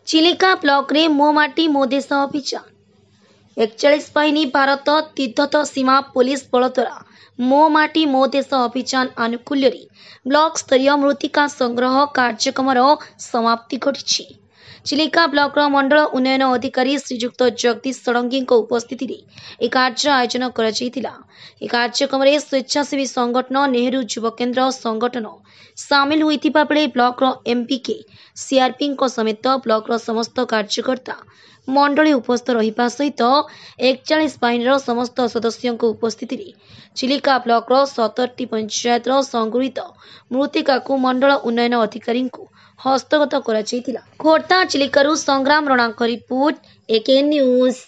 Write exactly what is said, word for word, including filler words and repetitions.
ଚିଲିକା ବ୍ଲକରେ ମୋ ମାଟି ମୋ ଦେଶ ଅଭିଯାନ। ଏକଚାଳିଶ ବାହିନୀ ଭାରତ ତିବ୍ଦତ ସୀମା ପୋଲିସ ବଳ ଦ୍ୱାରା ମୋ ମାଟି ମୋ ଦେଶ ଅଭିଯାନ ଆନୁକୂଲ୍ୟରେ ବ୍ଲକ ସ୍ତରୀୟ ମୃତ୍ତିକା ସଂଗ୍ରହ କାର୍ଯ୍ୟକ୍ରମର ସମାପ୍ତି ଘଟିଛି। ଚିଲିକା ବ୍ଲକର ମଣ୍ଡଳ ଉନ୍ନୟନ ଅଧିକାରୀ ଶ୍ରୀଯୁକ୍ତ ଜଗଦୀଶ ଷଡ଼ଙ୍ଗୀଙ୍କ ଉପସ୍ଥିତିରେ ଏହି କାର୍ଯ୍ୟର ଆୟୋଜନ କରାଯାଇଥିଲା। ଏହି କାର୍ଯ୍ୟକ୍ରମରେ ସ୍ୱେଚ୍ଛାସେବୀ ସଂଗଠନ ନେହେରୁ ଯୁବ କେନ୍ଦ୍ର ସଂଗଠନ ସାମିଲ ହୋଇଥିବା ବେଳେ ବ୍ଲକର ଏମ୍ପିକେ, ସିଆର୍ପିଙ୍କ ସମେତ ବ୍ଲକର ସମସ୍ତ କାର୍ଯ୍ୟକର୍ତ୍ତା ମଣ୍ଡଳୀ ଉପସ୍ଥିତ ରହିବା ସହିତ ଏକଚାଳିଶ ବାହିନୀର ସମସ୍ତ ସଦସ୍ୟଙ୍କ ଉପସ୍ଥିତିରେ ଚିଲିକା ବ୍ଲକର ସତରଟି ପଞ୍ଚାୟତର ସଂଗୃହୀତ ମୃତ୍ତିକାକୁ ମଣ୍ଡଳ ଉନ୍ନୟନ ଅଧିକାରୀଙ୍କୁ ହସ୍ତଗତ କରାଯାଇଥିଲା। ଖୋର୍ଦ୍ଧା ଚିଲିକାରୁ ସଂଗ୍ରାମ ରଣାଙ୍କ ରିପୋର୍ଟ, ଏକେ ନ୍ୟୁଜ୍।